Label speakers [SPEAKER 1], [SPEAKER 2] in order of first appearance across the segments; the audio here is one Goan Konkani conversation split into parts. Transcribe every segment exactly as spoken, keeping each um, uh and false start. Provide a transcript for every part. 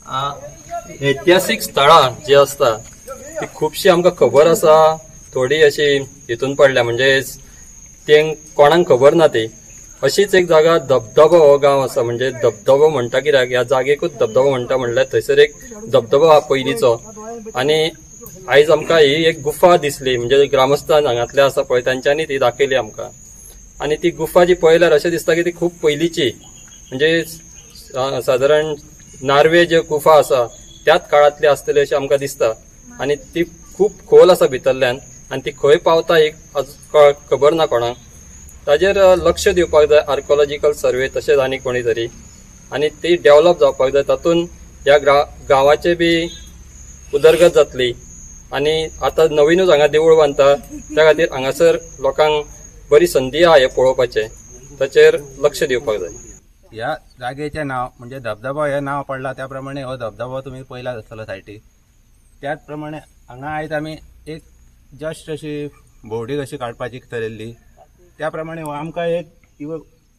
[SPEAKER 1] ऐतिहासीक स्थळां जी आसता ती खुबशी आमकां खबर आसा, थोडी अशी हितून पडल्या, म्हणजे ते कोणाक खबर ना ती. अशीच एक जागा धबधबो हो गांव आसा. म्हणजे धबधबो म्हणटा कित्याक, ह्या जागेकूच धबधबो म्हणटा, म्हणल्यार थंयसर एक धबधबो आहा पयलींचो. आनी आयज आमकां ही एक गुफा दिसली, म्हणजे ग्रामस्थान हांगांतले आसा पळय तांच्यांनी ती दाखयली आमकां. आनी ती गुफा जी पळयल्यार अशें दिसता की ती खूब पयलींची, म्हणजे सादारण नार्वे ज्यो गुफा आसा त्याच काळांतली आसतली अशें आमकां दिसता. आनी ती खूब खोल आसा भितरल्यान आनी ती खंय पावता एक खबर ना कोणाक. ताजेर लक्ष दिवपाक जाय आर्कोलॉजिकल सर्वे तशेंच आनी कोणी तरी, आनी ती डेव्हलप जावपाक जाय. तातूंत ह्या गांवाचे बी उदरगत जातली. आनी आतां नवीनूच हांगा देवूळ बांदता, त्या खातीर हांगासर लोकांक बरी संदी आहा हें पळोवपाचें, ताचेर लक्ष दिवपाक जाय.
[SPEAKER 2] ह्या जागेचें नांव म्हणजे धबधबो हें नांव पडलां त्या प्रमाणे हो धबधबो तुमी पळयला आसतलो सायटीक. त्याच प्रमाणे हांगा आयज आमी एक जस्ट अशी भोंवडी कशी काडपाची थरयल्ली. त्या प्रमाणे आमकां एक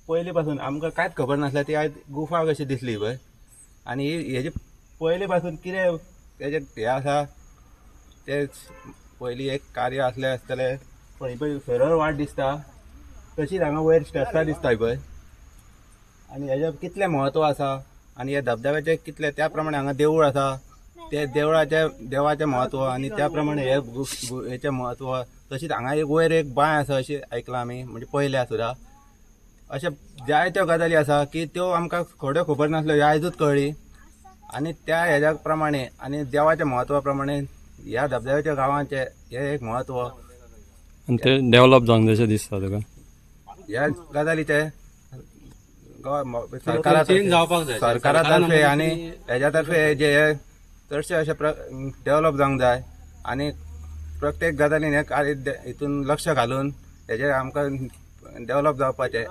[SPEAKER 2] पयलीं पासून आमकां कांयच खबर नासलें, ती आयज गुफा कशी दिसली पळय. आनी हेजे पयलीं पासून कितें तेजें हें आसा तें पयलीं एक कार्य आसलें आसतलें. पण ही पळय सरळ वाट दिसता, तशीच हांगा वयर स्टेप्सां दिसता पळय. आनी हेजें कितलें म्हत्व आसा आनी ह्या धबधब्याचें कितलें, त्या प्रमाणे हांगा देवूळ आसा, ते देवळाचें देवाचें म्हत्व आनी त्या प्रमाणे हे हेचें म्हत्व. तशीच हांगा एक वयर एक बांय आसा अशें आयकलां आमी, म्हणजे पळयल्या सुद्दां. अशें जायत्यो गजाली आसा की त्यो आमकां थोड्यो खबर नासल्यो, ह्यो आयजूच कळ्ळी. आनी त्या हेज्या प्रमाणे आनी देवाच्या म्हत्वा प्रमाणे ह्या धबधब्याच्या गांवाचें हें एक म्हत्व
[SPEAKER 1] आनी तें डेव्हलप जावंक जाय अशें दिसता तुका.
[SPEAKER 2] ह्या गजालीचें सरकारा सरकारा तर्फे आनी हेज्या तर्फे जे हे चडशे अशें डेव्हलप जावंक जाय. आनी प्रत्येक गजालीन हे कार्य हितून लक्ष घालून हेजेर आमकां डेव्हलप जावपाचें.